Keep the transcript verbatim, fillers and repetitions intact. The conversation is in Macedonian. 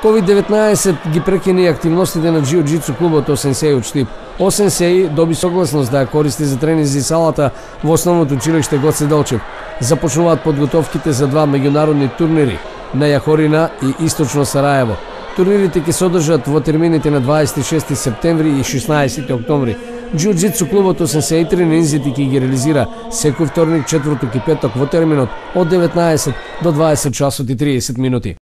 ковид деветнаесет ги прекини активностите на џиу-џитсу клубот Осенсеј од Штип. Осенсеј доби согласност да ја користи за тренинзи салата во основното училиште Гоце Делчев. Започнуваат подготовките за два меѓународни турнири на Јахорина и Источно Сараево. Турнирите ќе се одржат во термините на дваесет и шести септември и шеснаесети октомври. Џиу-џитсу клубот Осенсеј тренинзите ќе ги реализира секој вторник, четврток и петок во терминот од деветнаесет до дваесет часот и триесет минути.